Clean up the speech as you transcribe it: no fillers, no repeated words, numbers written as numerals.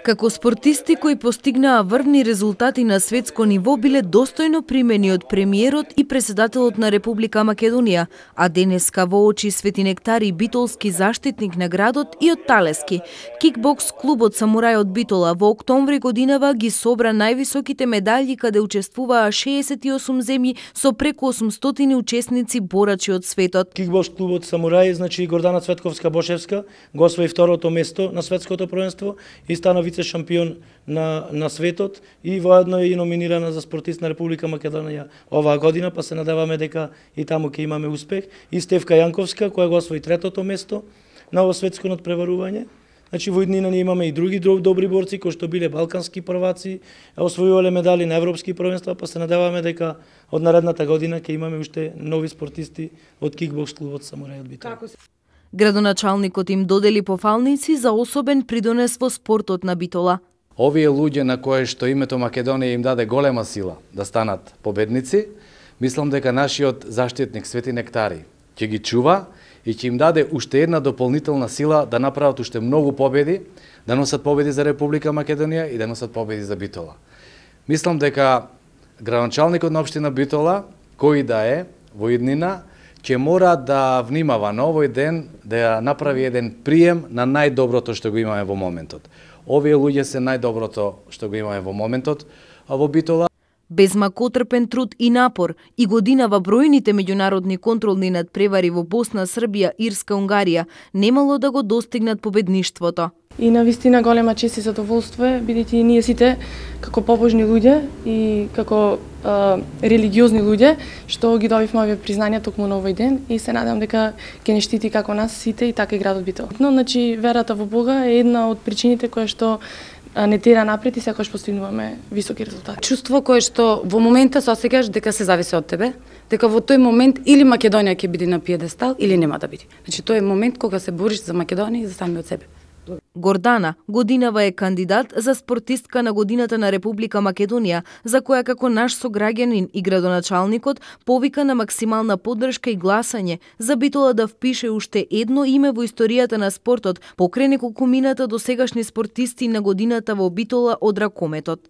Како спортисти кои постигнаа врвни резултати на светско ниво биле достојно примени од премиерот и председателот на Република Македонија, а денеска во очи Свети Нектари битолски заштитник на градот и од Талески. Кикбокс клубот Самурај од Битола во октомври годинава ги собра највисоките медали каде учествуваа 68 земји со преку 800 учесници борачи од светот. Кикбокс клубот Самурај, значи Гордана Цветковска-Бошевска, го освои второто место на светското првенство и стана вице шампион на светот и воедно е и номинирана за спортист на Република Македонија оваа година, па се надеваме дека и таму ќе имаме успех. И Стефка Јанковска која го освои третото место на ово светско надпреварување. Значи во иднина ние имаме и други добри борци кои што биле балкански прваци, освојувале медали на европски првенства, па се надеваме дека од наредната година ќе имаме уште нови спортисти од кикбокс клубот Самурај од Битола. Градоначалникот им додели пофалници за особен придонес во спортот на Битола. Овие луѓе на кои што името Македонија им даде голема сила да станат победници, мислам дека нашиот заштитник Свети Нектари ќе ги чува и ќе им даде уште една дополнителна сила да направат уште многу победи, да носат победи за Република Македонија и да носат победи за Битола. Мислам дека градоначалникот на општина Битола, кој да е во иднина, ќе мора да внимава на овој ден да направи еден прием на најдоброто што го имаме во моментот. Овие луѓе се најдоброто што го имаме во моментот во Битола. Без макотрпен труд и напор и годинава бројните меѓународни контролни надпревари во Босна, Србија, Ирска, Унгарија немало да го достигнат победништвото. И навистина голема чест и задоволство е, бидејќи ние сите како побожни луѓе и како религиозни луѓе што ги добивме овие признања токму на овој ден и се надевам дека ќе не штити како нас сите и така и градот Битола. Значи верата во Бога е една од причините која што не тера напред и секогаш постигнуваме високи резултати. Чувство кое што во момента се осеќаш дека се зависи од тебе, дека во тој момент или Македонија ќе биде на пиедестал или нема да биде. Значи тој е момент кога се бориш за Македонија и за самиот себе. Гордана годинава е кандидат за спортистка на годината на Република Македонија, за која како наш сограѓанин и градоначалникот повика на максимална поддршка и гласање за Битола да впише уште едно име во историјата на спортот покрај неколку мината до сегашни спортисти на годината во Битола од ракометот.